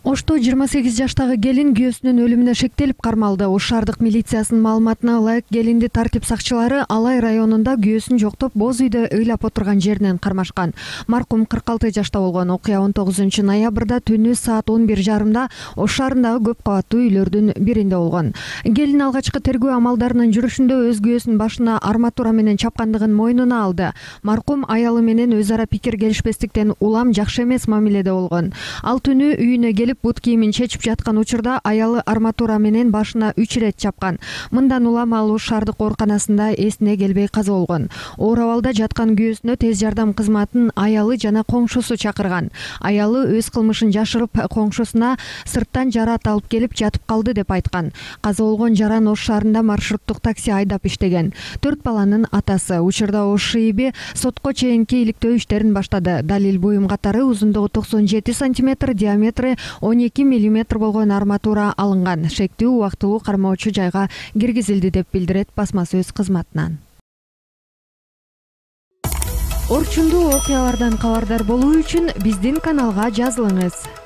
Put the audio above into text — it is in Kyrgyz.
Ошто 28 жаштагы келин күйөөсүнүн өлүмүнө шектелип кармалды. Ош шаардык милициясынын маалыматына ылайык, келинди тартип сакчылары Алай районунда күйөөсүн жоктоп, боз үйдө ыйлап отурган жеринен кармашкан. Маркум 46 жашта болгон. Окуя 19 ноябрда түнү саат 11:30 Ош шаарындагы көп кабаттуу үйлөрдүн биринде болгон. Келин алгачкы тергөө амалдарынын жүрүшүндө өз күйөөсүнүн башына арматура менен чапкандыгын мойнуна алды. Маркум аялы менен өз ара пикир келишпестиктен улам жакшы эмес мамиледе болгон. Ал түнү үйүнө келип бут кийимин чечип жаткан учурда аялы арматура менен башына 3 ирет чапкан. Мындан улам ал Ош шаардык ооруканасында эсине келбей каза болгон. Оор абалда жаткан күйөөсүнө тез жардам кызматын аялы жана коңшусу чакырган. Аялы өз кылмышын жашырып, коңшусуна сырттан жараат алып келип жатып калды деп айткан. Каза болгон жаран Ош шаарында маршруттук такси айдап иштеген. 4 баланын атасы. Учурда Ош ШИИБ сотко чейинки иликтөө иштерин баштады. Далил буюм катары узундугу 97 см, диаметри 12 мм болгон арматура алынган. Шектүү убактылуу кармоочу жайга киргизилди деп билдирет басма сөз кызматынан. Орчундуу окуялардан кабардар болуу үчүн биздин каналга жазылыңыз.